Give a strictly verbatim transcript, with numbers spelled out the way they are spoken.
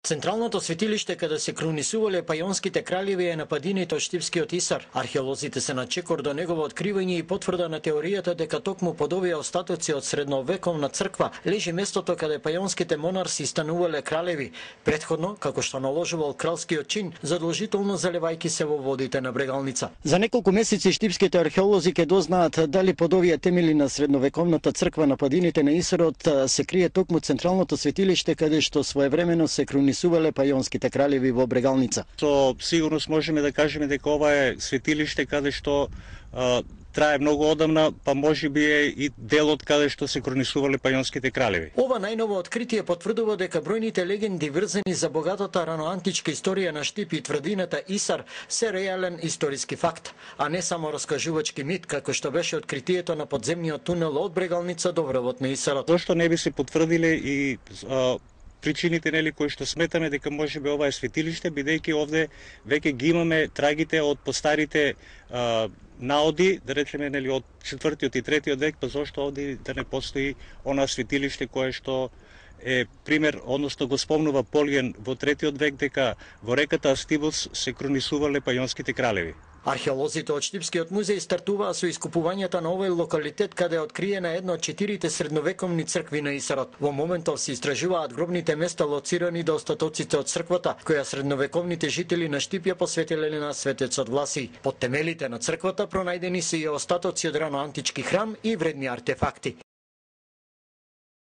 Централното светилиште каде се крунисувале пајонските кралеви е на падините од Штипскиот Исар. Археолозите се на чекор до негово откривање и потврда на теоријата дека токму под овие остатоци од средновековна црква лежи местото каде пајонските монарси станувале кралеви, претходно, како што наложувал кралскиот чин, задолжително заливајќи се во водите на Брегалница. За неколку месеци штипските археолози ќе дознаат дали под овие темели на средновековната црква на падините на Исарот се крие токму централното светилиште каде што своевремено се крунисувале пајонските кралеви во Брегалница. Со сигурност можеме да кажеме дека ова е светилиште каде што а, трае многу одамна, па можеби е и делот каде што се крунисувале пајонските кралеви. Ова најново откритие потврдува дека бројните легенди врзани за богатата раноантичка историја на Штип и тврдината Исар се реален историски факт, а не само раскажувачки мит, како што беше откритието на подземниот тунел од Брегалница до врвот на Исарот. Зошто не би се потврдиле и а, причините нели кои што сметаме дека можеби ова е светилиште, бидејќи овде веќе ги имаме трагите од постарите а, наоди, да речеме нели од четвртиот и третиот век, па зошто овде да не постои она светилиште кое што е пример, односно го спомнува Полиен во третиот век дека во реката Астибус се крунисувале пајонските кралеви. Археолозите од Штипскиот музеј стартуваа со искупувањето на овој локалитет каде е откриена една од четирите средновековни цркви на Исарот. Во моментов се истражуваат гробните места лоцирани до остатоците од црквата, која средновековните жители на Штип ја посветиле на светецот Власий. Под темелите на црквата пронајдени се и остатоци од раноантички храм и вредни артефакти.